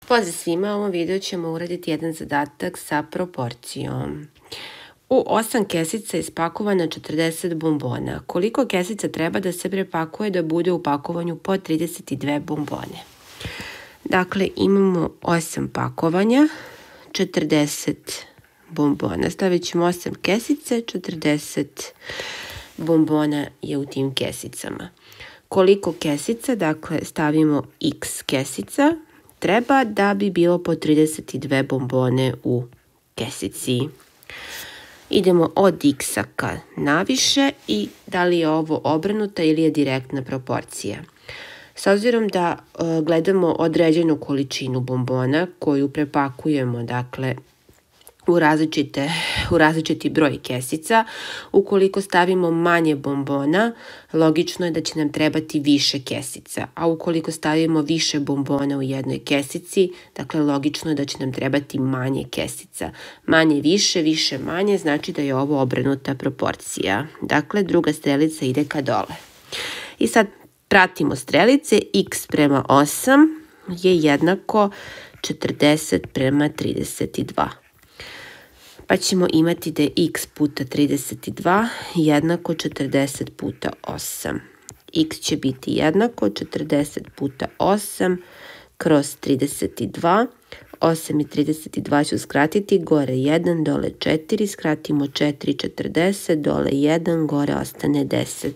Pozdrav svima, u ovom videu ćemo uraditi jedan zadatak sa proporcijom. U 8 kesica je ispakovano 40 bombona. Koliko kesica treba da se prepakuje da bude u pakovanju po 32 bombone? Dakle, imamo 8 pakovanja, 40 bombona. Stavit ćemo 8 kesice, 40 bombona je u tim kesicama. Koliko kesica, dakle stavimo x kesica, treba da bi bilo po 32 bombone u kesici. Idemo od x-a ka naviše i da li je ovo obrnuta ili je direktna proporcija. S obzirom da gledamo određenu količinu bombona koju prepakujemo, dakle, u različiti broj kesica, ukoliko stavimo manje bombona, logično je da će nam trebati više kesica, a ukoliko stavimo više bombona u jednoj kesici, dakle logično je da će nam trebati manje kesica. Manje više, više manje, znači da je ovo obrnuta proporcija. Dakle, druga strelica ide ka dole. I sad pratimo strelice, x prema 8 je jednako 40 prema 32. Pa ćemo imati da je x puta 32 jednako 40 puta 8. X će biti jednako 40 puta 8 kroz 32. 8 i 32 ću skratiti, gore 1, dole 4, skratimo 4, 40, dole 1, gore ostane 10.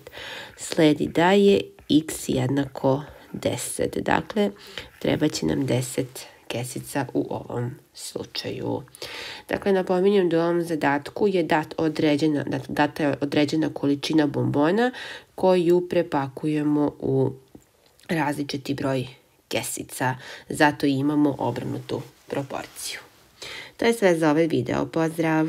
Sledi da je x jednako 10. Dakle, treba će nam 10 kesica u ovom slučaju. Dakle, napominjem da u ovom zadatku je data je određena količina bombona koju prepakujemo u različiti broj kesica. Zato imamo obrnutu proporciju. To je sve za ovaj video. Pozdrav!